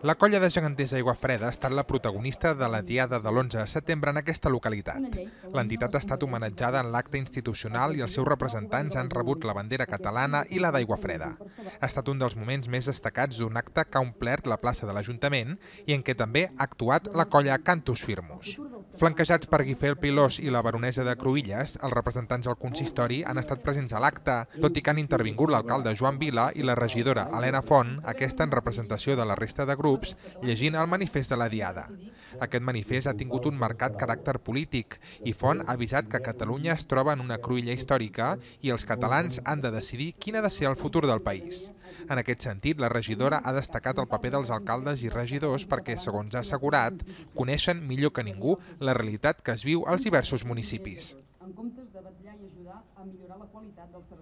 La colla de geganters Aiguafreda ha estat la protagonista de la diada de l'11 de setembre en aquesta localitat. L'entitat ha estat homenatjada en l'acte institucional i els seus representants han rebut la bandera catalana i la d'Aiguafreda. Ha estat un dels moments més destacats d'un acte que ha omplert la plaça de l'Ajuntament i en què també ha actuat la colla Cantus Firmus. Flanquejats per Guifré Pilós i la baronessa de Cruïlles, els representants del consistori han estat presents a l'acte, tot i que han intervingut l'alcalde Joan Vila i la regidora Helena Font, aquesta en representació de la resta de grups, llegint el manifest de la diada. Aquest manifest ha tingut un marcat caràcter polític i Font ha avisat que Catalunya es troba en una cruïlla històrica i els catalans han de decidir quin ha de ser el futur del país. En aquest sentit, la regidora ha destacat el paper dels alcaldes i regidors perquè, segons ha assegurat, coneixen millor que ningú la realitat que es viu als diversos municipis.